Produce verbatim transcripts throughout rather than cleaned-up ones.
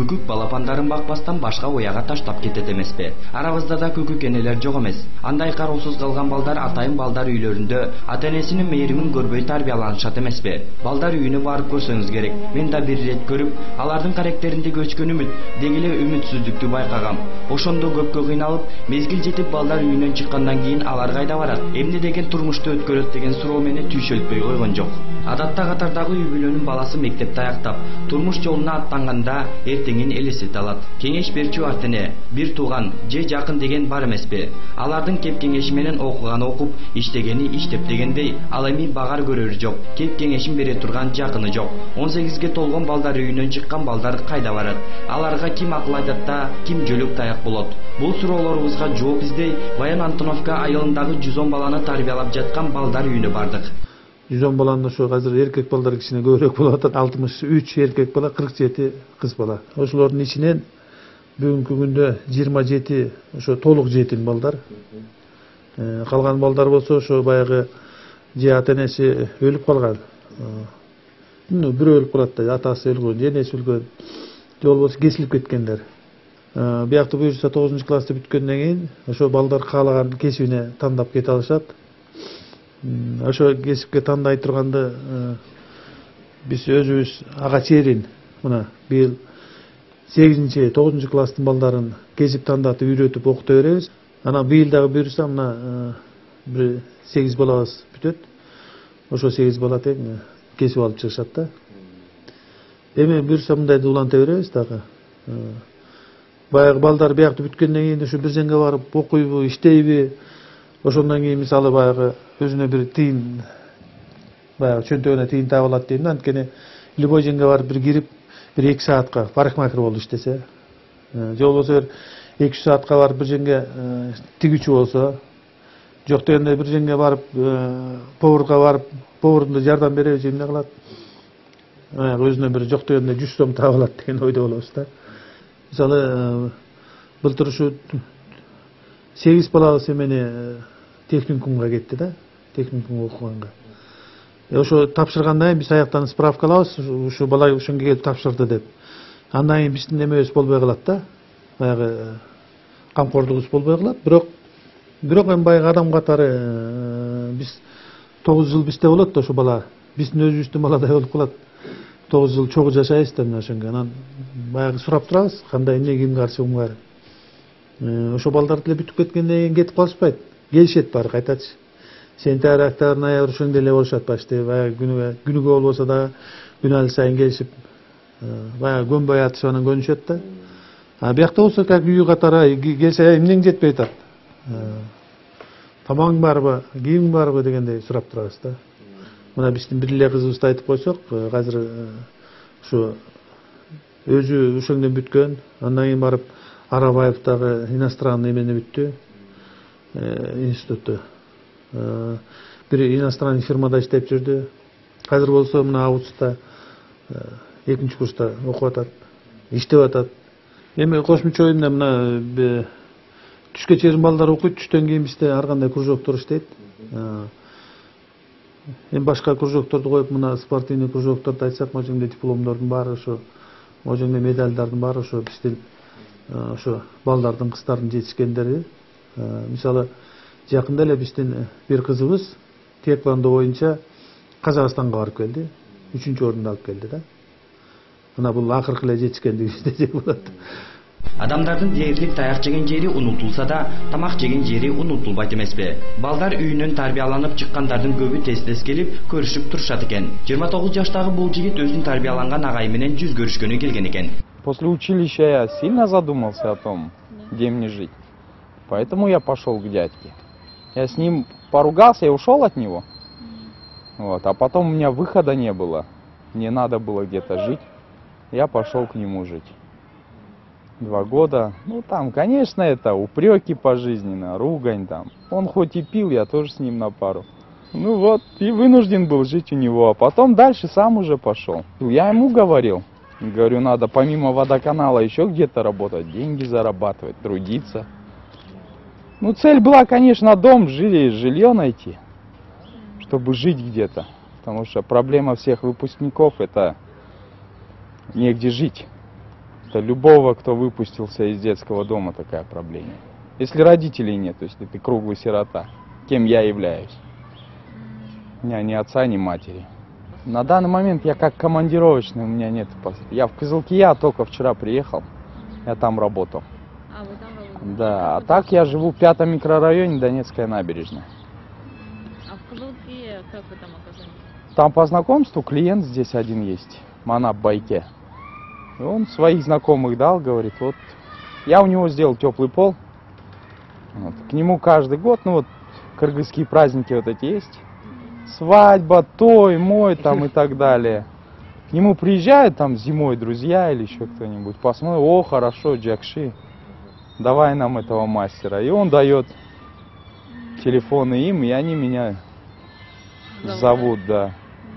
Күкүк балапандарын бакпастан башка уяга таштап кетет эмеспи? Арабызда да күкүк энелер жок эмес. Андай кароосуз калган балдар атайын балдар үйлөрүндө ата-энесинин мээримин көрбөй тарбияланышат эмеспи? Балдар үйүнө барып көрсөңүз керек. Мен да бир ирет көрүп, алардын карактеринде өчкөн үмүт, деги эле үмүтсүздүктү байкагам. Ошондо көпкө кыйналып, мезгил жетип балдар үйүнөн чыккандан кийин алар кайда барат? Эмне деген турмушту өткөрөт деген суроо мени түйшөлтпөй койгон жок. Адатта катардагы үй бүлөнүн баласы мектепти аяктап, турмуш жолуна аттанганда эртеңин элестете алат. Кеңеш берчү ата-эне, бир тууган же жакын деген бар эмеспи? Алардын кеп кеңеши менен окуганы окуп, иштегени иштеп дегендей, ал эми багар көрөрү жок, кеп кеңешин бере турган жакыны жок. он сегизге толгон балдар үйүнөн чыккан балдар кайда барат? Аларга ким акыл айтат да, ким жөлөк таяк болот? Бул суроолорубузга жооп издей Баян Антоновка айылындагы жүз он баланы тарбиялап жаткан балдар үйүнө бардык. жүз он баланын ошо азыр эркек балдар кичине көбүрөөк болуп атат. алтымыш үч эркек бала, кырк жети кыз бала. Ошолордун ичинен бүгүнкү күндө жыйырма жети ошо толук жетим балдар. Калган балдар болсо ошо баягы же ата-энеси өлүп калган. Ну, бирөө өлүп калат да, атасы өлгөн, же энеси өлгөн, же болбосо кесилип кеткендер. Биякта буюрса тогузунчу классты бүткөндөн кийин ошо балдар каалаган кесибине тандап кете алышат. Ошо кесипке тандай турганды биз өзүбүз ага чейин мына быйыл сегизинчи тогузунчу класстын балдарын кесип тандатып үйрөтүп окута беребиз. Анан быйыл дагы буюрса мына бир сегиз балабыз бүтөт. Ошо сегиз бала тең кесип алып чыгышат да. Эми буюрса мындайды уланта беребиз дагы. Баягы балдар биякты бүткөндөн кийин ушу бир жерге барып окуйбу, иштейби? Ошондон кийин мисалы баягы өзүнө бир тыйын, баягы чөнтөгүнө тыйын таап алат дейм да. Анткени любой жерге барып бир кирип, бир эки саатка парикмахер болуп иштесе, же болбосо бир эки үч саатка барып бир жерге тигүүчү болсо, жок дегенде бир жерге барып поварга барып, поварга жардам беребиз, эмне кылат? Өзүнө бир жок дегенде жүз сом таап алат деген ойдо болобуз да. Мисалы былтыр ушу сегиз балабыз эмени техникумга кетти да, техникумга окуганга. Ошо тапшыргандан кийин биз аяктан справка алабыз, ушу бала ошонго келип тапшырды деп. Андан кийин биздин эмебиз болбой калат да, баягы камкордугубуз болбой калат. Бирок бирок эми баягы адам катары биз тогуз жыл бизде болот да ошо бала, биздин өзүбүздүн баладай болуп калат. тогуз жыл чогуу жашайбыз да мына ошонго. Анан баягы сурап турабыз, кандай эмне, ким каршы, ким бар. Ошо балдар деле бүтүп кеткенден кийин кетип калышпайт. Келишет баары кайтачы. Сентябрь, октябрь, ноябрь ошондой эле болушат почти. Баягы күнүгө күнүгө болбосо да күнү сайын келишип, баягы көнбөй атышып анан көнүшөт да. А биякта болсо как үй катары келсе эмнең жетпей атат? Тамагың барбы, кийимиң барбы дегендей сурап турабыз да. Мына биздин бир эле кызыбызды айтып койсок, азыр ушу өзү ошондон бүткөн, андан кийин барып Арабаевдагы иностранный эмени бүттү, институтту. Бир иностранный фирмада иштеп жүрдү. Азыр болсо мына Августта экинчи курста окуп атат, иштеп атат. Эми кошумча оюнда мына түшкө чейин балдар окуйт, түштөн кийин бизде ар кандай кружоктор иштейт. Эми башка кружокторду коюп, мына спортивный кружокторду айтсак, могу жерде дипломдордун баары ошо, могу жерде медалдардын баары ошо биздин ошо балдардын, кыздардын жетишкендери. Мисалы, жакында эле биздин бир кызыбыз тэквондо боюнча Казакстанга барып келди, үчүнчү орунду алып келди да. Мына бул акыркы эле жетишкендиги десек болот. Адамдардын дээрлик таяк жеген жери унутулса да, тамак жеген жери унутулбайт эмеспи? Балдар үйүнөн тарбияланып чыккандардын көбү тез-тез келип көрүшүп турушат экен. жыйырма тогуз жаштагы бул жигит өзүн тарбияланган агайы менен жүз көрүшкөнү келген экен. После училища я сильно задумался о том, где мне жить. Поэтому я пошел к дядьке. Я с ним поругался и ушел от него. Вот. А потом у меня выхода не было. Мне надо было где-то жить. Я пошел к нему жить. Два года. Ну там, конечно, это упреки пожизненно, ругань там. Он хоть и пил, я тоже с ним на пару. Ну вот, и вынужден был жить у него. А потом дальше сам уже пошел. Я ему говорил. Говорю, надо помимо водоканала еще где-то работать, деньги зарабатывать, трудиться. Ну, цель была, конечно, дом, жилье, жилье найти, чтобы жить где-то. Потому что проблема всех выпускников — это негде жить. Это любого, кто выпустился из детского дома, такая проблема. Если родителей нет, то есть ты круглый сирота, кем я являюсь. У меня ни отца, ни матери. На данный момент я как командировочный, у меня нет. Я в Кызылкия только вчера приехал, я там работал. А, вы там работаете? Да, а так я живу в пятом микрорайоне, Донецкая набережная. А в Кызылкие как вы там оказались? Там по знакомству клиент здесь один есть, Манап Байке. И он своих знакомых дал, говорит, вот я у него сделал теплый пол. Вот, к нему каждый год, ну вот кыргызские праздники вот эти есть. Свадьба, той, мой там и так далее. К нему приезжают там зимой друзья или еще кто-нибудь, посмотрят, о, хорошо, Джакши, давай нам этого мастера. И он дает телефоны им, и они меня зовут, да.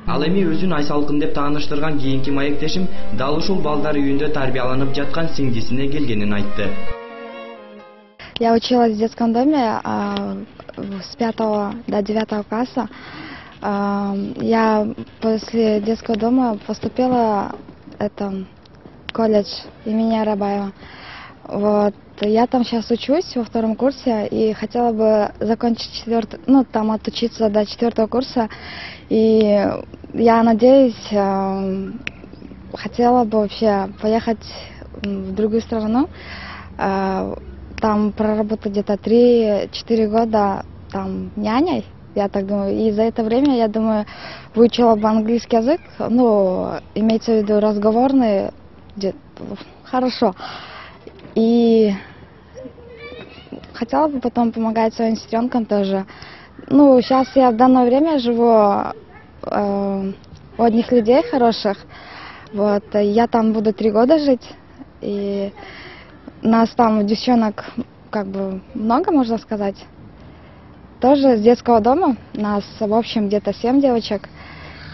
Ал эми өзүн Айсалкын деп тааныштырган кийинки маектешим дал ушул балдар үйүндө тарбияланып жаткан сиңдисине келгенин айтты. Я училась в детском доме а, с пятого до девятого класса. А, я после детского дома поступила это, в колледж имени Арабаева. Вот. Я там сейчас учусь во втором курсе и хотела бы закончить четвертый, ну там отучиться до четвертого курса. И я надеюсь, э, хотела бы вообще поехать в другую страну, э, там проработать где-то три-четыре года там няней, я так думаю. И за это время, я думаю, выучила бы английский язык, ну, имеется в виду разговорный, хорошо. И хотела бы потом помогать своим сестренкам тоже. Ну, сейчас я в данное время живу э, у одних людей хороших. Вот, я там буду три года жить. И нас там девчонок как бы много, можно сказать. Тоже с детского дома. Нас в общем где-то семь девочек.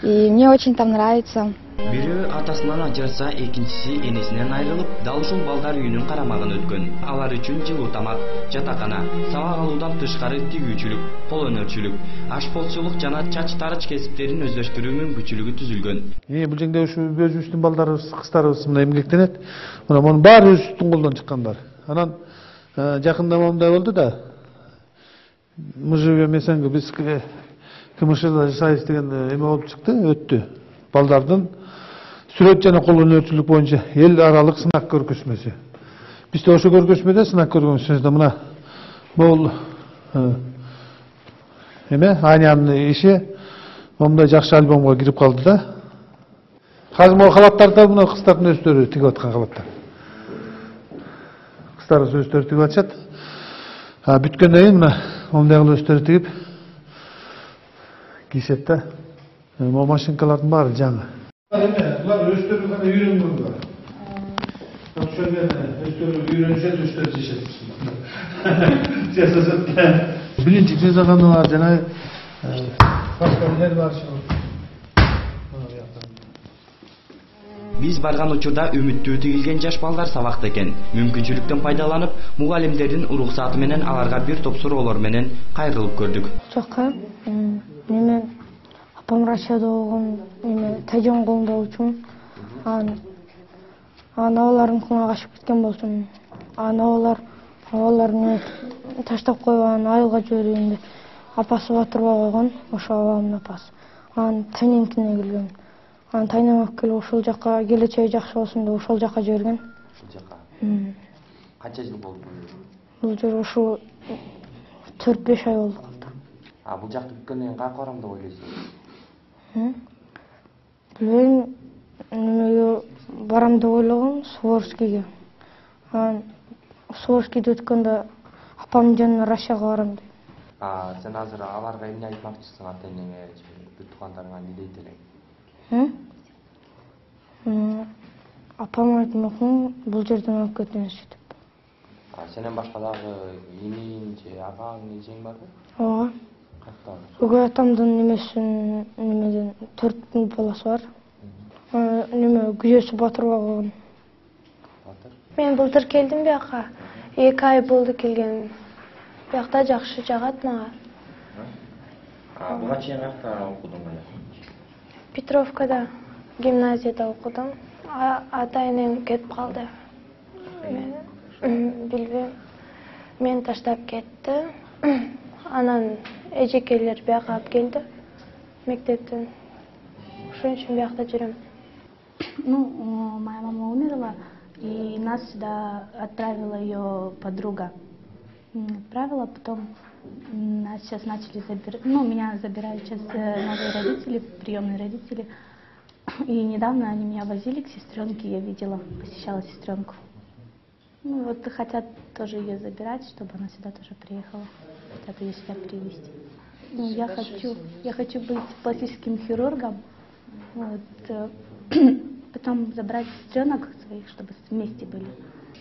И мне очень там нравится. Бирөө атасынан ажыраса, экинчиси энесинен айрылып, дал ушул балдар үйүнүн карамагын өткөн. Алар үчүн жылуу тамак, жатакана, сабак алуудан тышкары тигүүчүлүк, кол өнөрчүлүк, ашполчулук жана чач тарыч кесиптерин өздөштүрүү мүмкүнчүлүгү түзүлгөн. Эми бул жерде ушу өзүбүздүн балдарыбыз, кыздарыбыз мына эмгектенет. Мына мунун баары өзүбүздүн колдон чыккандар. Анан жакында момундай болду да. Мы живем эсенге биз КМШда жашайбыз деген эме болуп чыкты, өттү. Балдардын сүрөт жана кол өнөрчүлүк боюнча эл аралык сынак көргөзмөсү. Бизде ошо көргөзмөдө сынак көргөзмөсүндө мына бул эме Анянын иши момундай жакшы альбомго кирип калды да. Азыр могу халаттарды мына кыздардын өздөрү тигип аткан халаттар. Кыздарыбыз өздөрү тигип атышат. А бүткөндөн кийин мына момундай кылып өздөрү тигип кийишет да. Могу машинкалардын баары жаңы. Булар өздөрү гана үйрөнгөндөр. Ошол менен өздөрү үйрөнүшөт, өздөрү жашашат. Жашашат. Биринчи жазганы бар, жана башкалар бар. Биз барган учурда үмүттүү тигилген жаш балдар сабакта экен. Мүмкүнчүлүктөн пайдаланып, мугалимдердин уруксаты менен аларга бир топ суроолор менен кайрылып көрдүк. Жакка неме апам Рашада болгон неме тайжан колунда болчумун. Аны аналарын кулуна качып кеткен болчумун. Аналар абаларын таштап койгон, айылга жибергенде апасы батырбай койгон, ошо абамдын апасы. Анан тайнемкине келген. Анан тайнем алып келип ошол жака келечеги жакшы болсун деп ошол жака жиберген. Ошол жака. Канча жыл болду? Бул жер ошо төрт-беш ай болду калды. А бул жакты бүткөндөн кийин кайка барам деп ойлойсуз? Билбейм, немеге барам деп ойлогом, Суворскийге. Анан Суворскийди өткөндө апамдын жанына Рашага барам деп. А сен азыр аларга эмне айтмакчысың, ата-энеңе, бүт туугандарыңа эмне дейт элең? Апам айтмакмын, бул жерден алып кетиңизчи деп. А сенен башка дагы эниң же агаң, эжең барбы? Ооба. Каяктагы? Өгөй атамдын немесин немеден төрт баласы бар. Неме күзөсү батырбай койгон. Батыр? Мен былтыр келдим бияка. эки ай болду келгеним. Биякта жакшы жагат мага. А буга чейин каякта окудуң эле? Петровкада гимназияда окудум. Ата-энем кетип калды. Билбейм. Мени таштап кетти. Анан эжекелер бияка алып келди мектептен. Ошон үчүн биякта жүрөм. Ну, моя мама умерла, и нас сюда отправила ее подруга. Отправила, потом нас сейчас начали забирать, ну, меня забирают сейчас новые родители, приемные родители. И недавно они меня возили к сестренке, я видела, посещала сестренку. Ну, вот хотят тоже ее забирать, чтобы она сюда тоже приехала. Хотят ее сюда привезти. Ну, я хочу, я хочу быть пластическим хирургом. Вот, потом забрать сестренок своих, чтобы вместе были.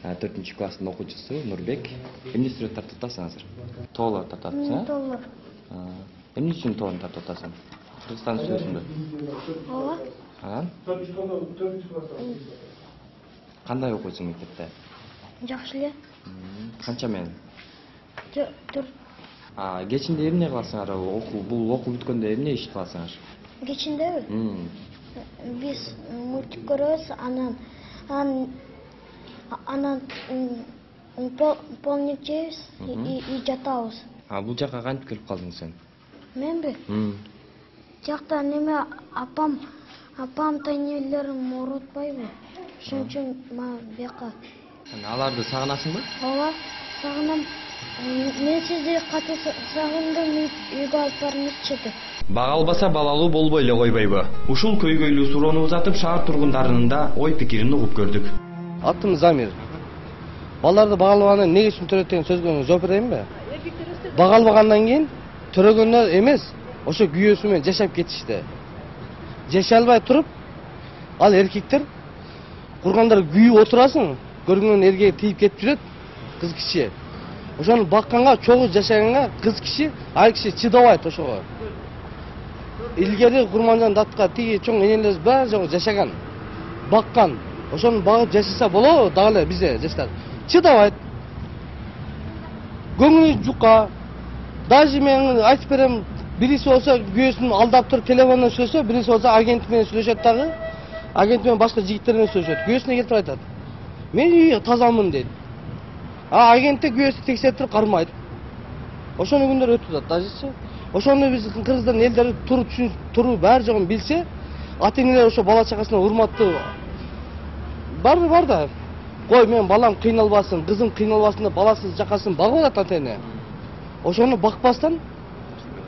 төртүнчү класстын окуучусу Нурбек. Эмне сүрөт тартып атасың азыр? Тоолор тартып атасың, э? Тоолор. Эмне үчүн тоолорду тартып атасың? Кыргызстан сүрөсүңбү? Ооба. Анан? Кандай окуйсуң мектепте? Жакшы эле. Канча менен? Төрт. А, кечинде эмне кыласыңар? Окуу, бул окуу бүткөндө эмне иш кыласыңар? Кечиндеби? Биз мультик көрөбүз, анан анан анан полник жейбиз и жатабыз. А, бул жака кантип келип калдың сен? Менби? Жакта неме апам, апам тайнелерим оорутпайбы? Ошон үчүн мага бияка. Аларды сагынасыңбы? Ооба, сагынам. Мен сизди катуу сагындым, үйгө алып барыңызчы деп. Бага албаса балалуу болбой эле койбойбу? Ушул көйгөйлүү суроону узатып, шаар тургундарынын да ой пикирин угуп көрдүк. Атым Замир. Балдарды бага албаганда эмне үчүн төрөйт деген сөзгө жооп берейинби? Бага албагандан кийин төрөгөндөр эмес, ошо күйөөсү менен жашап кетишти. Жашай албай туруп, ал эркектер кургандар күйүп отурасың, көрүнгөн эрге тийип кетип жүрөт, кыз киши. Ошону бакканга, чогуу жашаганга кыз киши, айыл киши чыдабайт ошого. Илгери Курманжан датка тиги чоң энелерибиз баары жогу жашаган, баккан. Ошону багып жашаса болобу, дагы эле бизде жаштар чыдабайт. Көңүлү жука. Даже мен айтып берем, бириси болсо күйөөсүн алдап туруп телефондон сүйлөсө, бириси болсо агент менен сүйлөшөт дагы. Агент менен башка жигиттер менен сүйлөшөт. Күйөөсүнө келип айтат. Мен үй тазамын дейт. А агентте күйөөсү текшерип туруп кармайт. Ошону күндөр өтүп атат дажечи. Ошону биз Кыргызстан элдери туру түшүнүп, туру баары жогун билсе, ата-энелер ошо бала чакасына урматтуу бары бар да. Кой, мен балам кыйналбасын, кызым кыйналбасын деп баласыз жакасын багып атат ата-эне. Ошону бакпастан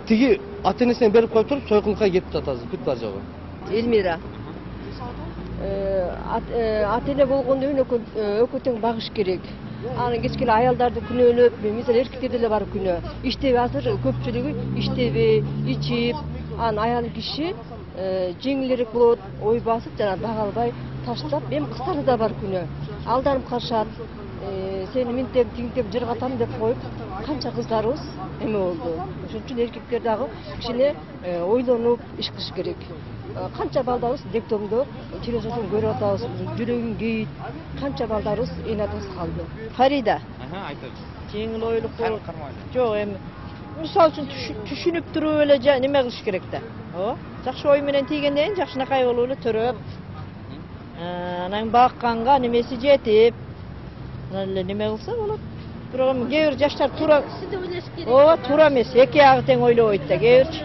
тиги ата-энесине берип коюп туруп сойкулукка кетип атат азыр, бүт бар жогу. Элмира. Ата-эне болгондо экөө тең багыш керек. Анан кечке эле аялдарды күнөөлөп, мисалы эркектерде эле бар күнөө. Иштеби азыр көпчүлүгү иштеби, ичип, анан аял киши жеңилирээк болот, ой басып жана бага албай таштап, эми кыздарда да бар күнөө. Алданып калышат. Сени минтеп, тиңтеп жыргатам деп коюп, канча кыздарыбыз эме болду. Ошон үчүн эркектер дагы кичине ойлонуп иш кылыш керек. Канча балдарыбыз дектомдо телевизордон көрүп атабыз, жүрөгүн кейит. Канча балдарыбыз энатыбыз калды. Фарида. Аха, айтыңыз. Жеңил ойлук болуп. Жок, эми мисалы үчүн түшүнүп туруп эле неме кылыш керек да. Ооба. Жакшы ой менен тийгенден кийин жакшынакай болуп эле төрөп. Анан бакканга немеси жетип, анан эле неме кылса болот. Бирок эми кээ бир жаштар туура. Ооба, туура эмес. Эки ягы тең ойлобойт да. Кээ бир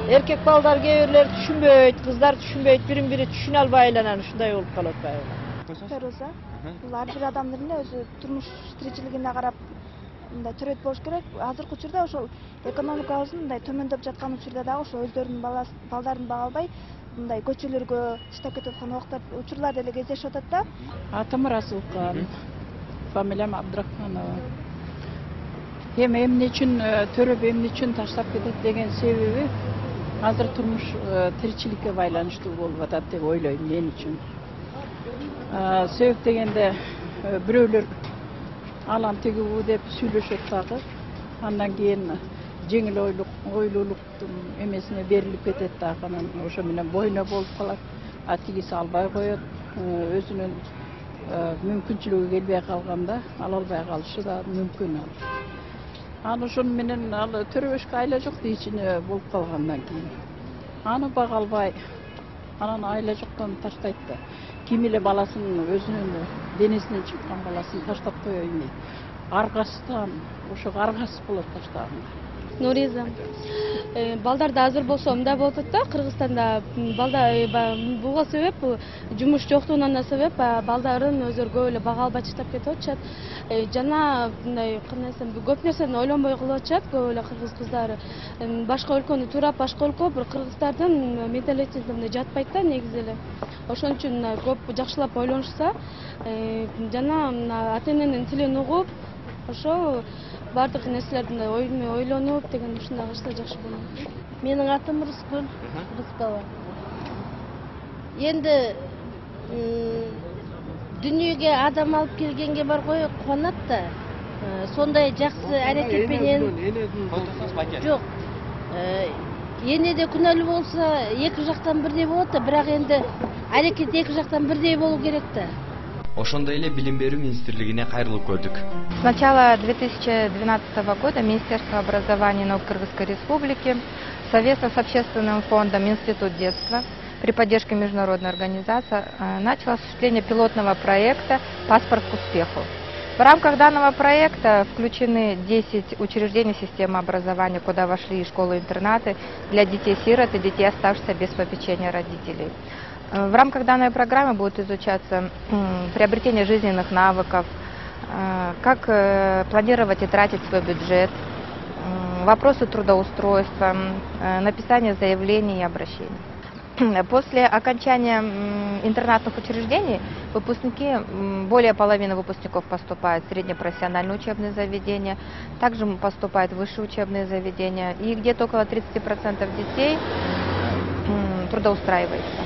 эркек балдар кээ бирлер түшүнбөйт, кыздар түшүнбөйт, бирин бири түшүнө албай эле анан ушундай болуп калып атпайбы? Феруза. Бул ар бир адамдын өзү турмуш тиричилигине карап мындай төрөйт болуш керек. Азыркы учурда ошол экономикабыздын мындай төмөндөп жаткан учурда дагы ошо өздөрүнүн балдарын бага албай мындай көчөлөргө таштап кетип аткан убактар, учурлар деле кездешип атат да. Атым Расулкан, фамилиям Абдрахманова. Эми эмне үчүн төрөп, эмне үчүн таштап кетет деген себеби азыр турмуш тиричиликке байланыштуу болуп атат деп ойлойм мен үчүн. Себеп дегенде бирөөлөр алам тиги бу деп сүйлөшөт дагы. Андан кийин жеңил ойлук, ойлуулуктун эмесине берилип кетет дагы. Анан ошо менен бойно болуп калат. А тигиси албай коет. Өзүнүн мүмкүнчүлүгү келбей калганда ала албай калышы да мүмкүн. Аны ошон менен ал төрөбөшкө айла жок дейчине болуп калгандан кийин. Аны бага албай Анан айла жоктон таштайт да. Ким эле баласын өзүнүн денесинен чыккан баласын таштап коёюн дейт. Аргасынан, ошо аргасыз болот таштаганда. Нуриза. Балдарда азыр болсо мындай болуп атат да, Кыргызстанда балдар буга себеп жумуш жоктугунан да себеп балдарын өздөрү көп эле бага албай таштап кетип атышат. Жана мындай кандай десем, көп нерсени ойлонбой кылып атышат көп эле кыргыз кыздары. Башка өлкөнү туурап, башка өлкө бир кыргыздардын менталитетине жатпайт да негизи эле. Ошон үчүн көп жакшылап ойлонушса, жана ата-эненин тилин угуп, ошо бардык нерселердин ойлонуп деген ушундай кылышса жакшы болот. Менин атым Рыскүл, Рыскова. Енді дүниеге адам алып келгенге бар ғой қуанат да. Сондай жақсы әрекетпенен жоқ. Енеде күнәлі болса, екі жақтан бірдей болады, бірақ енді әрекет екі жақтан бірдей болу керек та. Ошондой эле билим берүү министрлигине кайрылып көрдүк. С начала две тысячи двенадцатого года Министерство образования и науки Кыргызской Республики совместно с общественным фондом «Институт детства» при поддержке международной организации начало осуществление пилотного проекта «Паспорт к успеху». В рамках данного проекта включены десять учреждений системы образования, куда вошли и школы-интернаты для детей-сирот и детей, оставшихся без попечения родителей. В рамках данной программы будет изучаться приобретение жизненных навыков, как планировать и тратить свой бюджет, вопросы трудоустройства, написание заявлений и обращений. После окончания интернатных учреждений выпускники, более половины выпускников поступают в среднепрофессиональные учебные заведения, также поступают в высшие учебные заведения, и где-то около тридцати процентов детей трудоустраивается.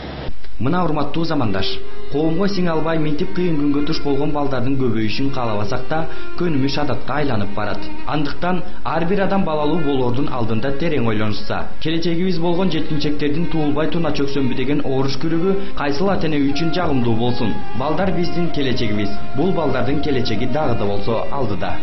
Мына урматтуу замандаш, коомго сиңе албай мынтип кыйын күнгө туш болгон балдардын көбөйүшүн каалабасак да, көнүмүш адатка айланып барат. Андыктан ар бир адам балалуу болоордун алдында терең ойлонушса, келечегибиз болгон жеткинчектердин туулбай туна чөксөнбү деген оруш күрөгү кайсыл ата-эне үчүн жагымдуу болсун. Балдар биздин келечегибиз. Бул балдардын келечеги дагы да болсо алдыда.